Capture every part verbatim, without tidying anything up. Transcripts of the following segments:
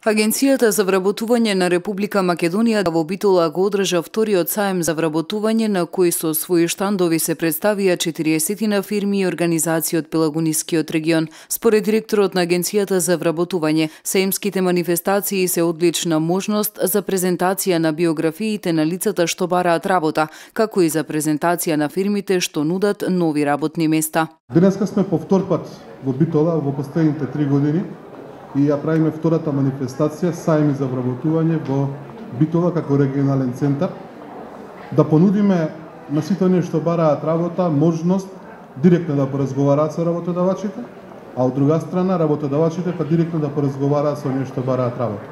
Агенцијата за вработување на Република Македонија во Битола го одржа вториот саем за вработување на кој со своји штандови се представија четириесет фирми и организации од Пелагонискиот регион. Според директорот на Агенцијата за вработување, саемските манифестации се одлична можност за презентација на биографиите на лицата што бараат работа, како и за презентација на фирмите што нудат нови работни места. Денеска сме по втор пат во Битола во последните три години и ја правиме втората манифестација саеми за вработување во Битола како регионален центар, да понудиме на сите оние што бараат работа можност директно да поразговараат со работодавачите, а од друга страна работодавачите па директно да поразговараат со оние што бараат работа.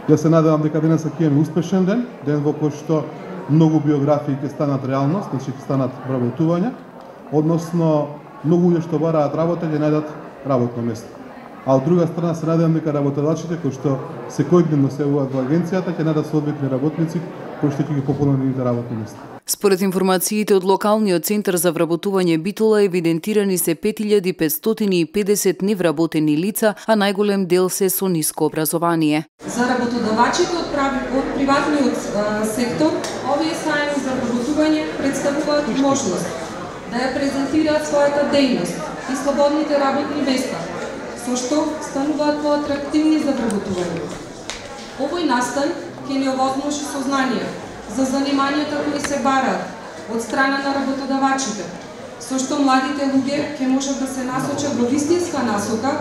Ја се надевам дека денеска ќе имаме успешен ден, ден во кој што многу биографии ќе станат реалност, значи ќе станат вработување, односно многу луѓе што бараат работа ќе најдат работно место. А од друга страна се надевам дека работодавачите кои што секојдневно се јавуваат во агенцијата ќе најдат соодветни работници кои што ќе ги пополнат нивните работни места. Според информациите од локалниот центар за вработување Битола евидентирани се пет илјади петстотини и педесет невработени лица, а најголем дел се со ниско образование. За работодавачите од, од приватниот а, сектор, овие саеми за вработување представуваат можност да ја презентираат својата дејност и слободните работни места, со што стануваат поатрактивни за вработување. Овој настан ќе ни овозможи сознание за занимањата кои се бараат од страна на работодавачите, со што младите луѓе ќе можат да се насочат во вистинска насока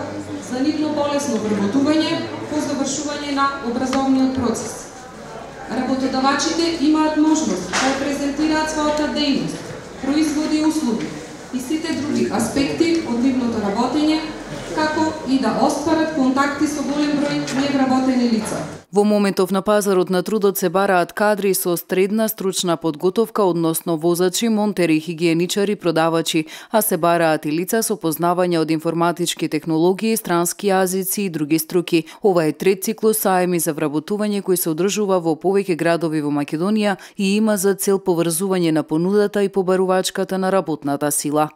за нивно полесно вработување по завршување на образовниот процес. Работодавачите имаат можност да презентираат својата дејност, производи и услуги и сите други аспекти од нивното работење, како и да остварат контакти со голем број невработени лица. Во моментов на пазарот на трудот се бараат кадри со средна стручна подготовка, односно возачи, монтери, хигиеничари, продавачи, а се бараат и лица со познавање од информатички технологии, странски јазици и други струки. Ова е трет циклус саеми за вработување кој се одржува во повеќе градови во Македонија и има за цел поврзување на понудата и побарувачката на работната сила.